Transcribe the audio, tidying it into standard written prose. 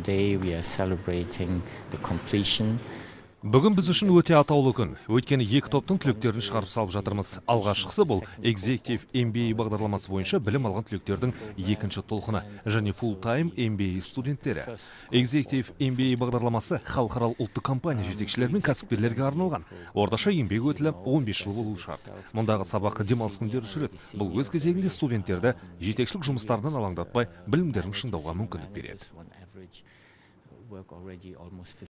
Today we are celebrating the completion. Бүгін біз үшін өте атаулы күн. Өйткені екі топтың түлектерін шығарып салып жатырмыз. Алғашқысы бұл Executive MBA бағдарламасы бойынша білім алған түлектердің екінші толқыны және Full-Time MBA студенттері. Executive MBA бағдарламасы халықаралық ұлттық компания жетекшілері мен кәсіпкерлерге арналған. Орташа еңбек өтілі 15 жыл болуы шарт. Мұндағы сабаққа демалыс күндері жүреді. Бұл өз кезегінде студенттерді жетекшілік жұмыстарынан алаңдатпай білімдерін шыңдауға мүмкіндік береді.